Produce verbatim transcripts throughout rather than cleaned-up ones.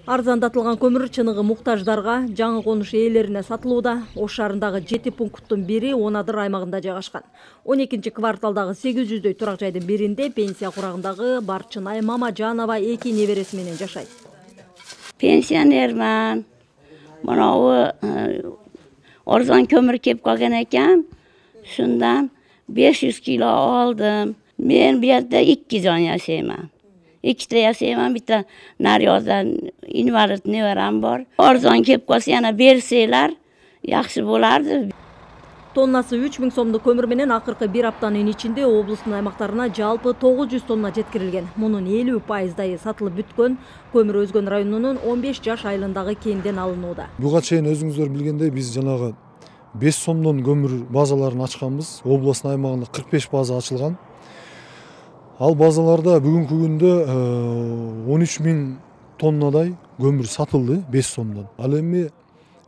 Арзандатылган көмүр чыныгы муктаждарга, жаңы конуш ээлерине сатылууда. Ош шаарындагы жети пункттун бири Онадыр аймагында жайгашкан. он экинчи кварталдагы сегиз жүздөй турак жайдын биринде пенсия курагындагы Барчынай Мамажанова эки небереси менен жашайт. Пенсионерман. Мынау орзон көмүр кеп калган экен. Шундан беш жүз кило алдым. Мен бу жерде эки жан жашайман. Ikkita yashayman, bitta naryoqdan invalid nevaram bor. Arzon kelib qolsa yana bersanglar yaxshi bo'lardi. Тоннасы үч миң сомдук көмүр менен акыркы бир аптанын ичинде облустун аймактарына жалпы тогуз жүз тонна жеткирилген. Мунун элүү пайыздайы сатылып бүткөн. Көмүр Өзгөн районунун он беш жаш айылындагы кенден алынууда. Буга чейин өзүңүздөр билгендей биз жанагы беш сомдон көмүр базаларын ачканбыз. Облустун аймагында кырк беш база ачылган. Ал базаларда бүгүнкү күндө он үч миң тоннадай көмүр сатылды беш сомдон. Ал эми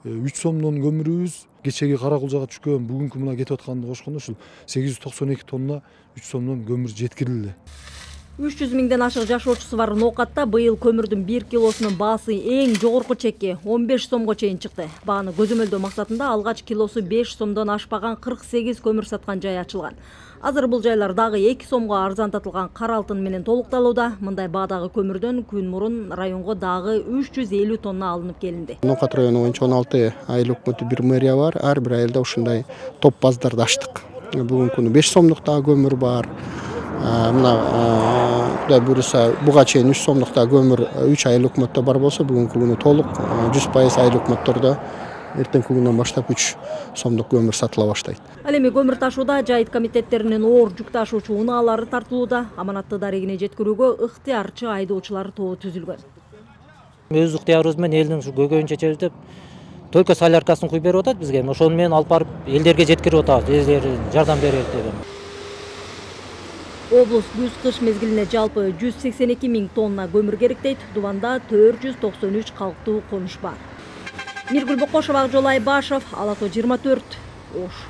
үч сомдон көмүрүбүз кечеги Каракулжага түшкөн, бүгүнкү мына кетип атканды кошкондо ушул сегиз жүз токсон эки тонна үч сомдон көмүр жеткирилди. үч жүз миңден ашык жашоочусу бар Ноокатта быйыл көмүрдүн бир килосунун баасы эң жогорку чекке он беш сомго чейин чыкты. Бааны көзөмөлдөө максатында алгач килосу беш сомдон ашпаган кырк сегиз көмүр саткан жай ачылган. Азыр бул жайлар дагы эки сомго арзандатылган кара алтын менен толукталууда. Мындай баадагы көмүрдөн күн мурун районго дагы үч жүз элүү тонна алынып келинди. Ноокат району боюнча он алты айыл өкмөтү бир мэрия бар. Ар бир айылда ушундай топ баздарды ачтык. Бүгүнкү күнү беш сомдук дагы көмүр бар. Мына Кудай буюрса буга чейин үч сомдук дагы көмүр үч айыл өкмөттө бар болсо, бүгүнкү күнү толук жүз пайыз айыл өкмөттөрдө эртеңки күндөн баштап үч сомдук көмүр сатыла баштайт. Ал эми көмүр ташууда жайыт комитеттеринин оор жүк ташуучу унаалары тартылууда. Аманатты дарегине жеткирүүгө ыктыярчы айдоочулар тобу түзүлгөн. Өз ыктыярыбыз менен элдин ушу көйгөйүн чечебиз деп только соляркасын куюп берип атат бизге. Ошону менен алып барып элдерге жеткирип атабыз, элдер жардам берет деп. Облус күз-кыш мезгилине жалпы жүз сексен эки миң тонна көмүр керектейт. Дубанда төрт жүз токсон үч калктуу конуш бар. Миргүл Бокошова, Жолай Башов, Ала тоо жыйырма төрт, Ош.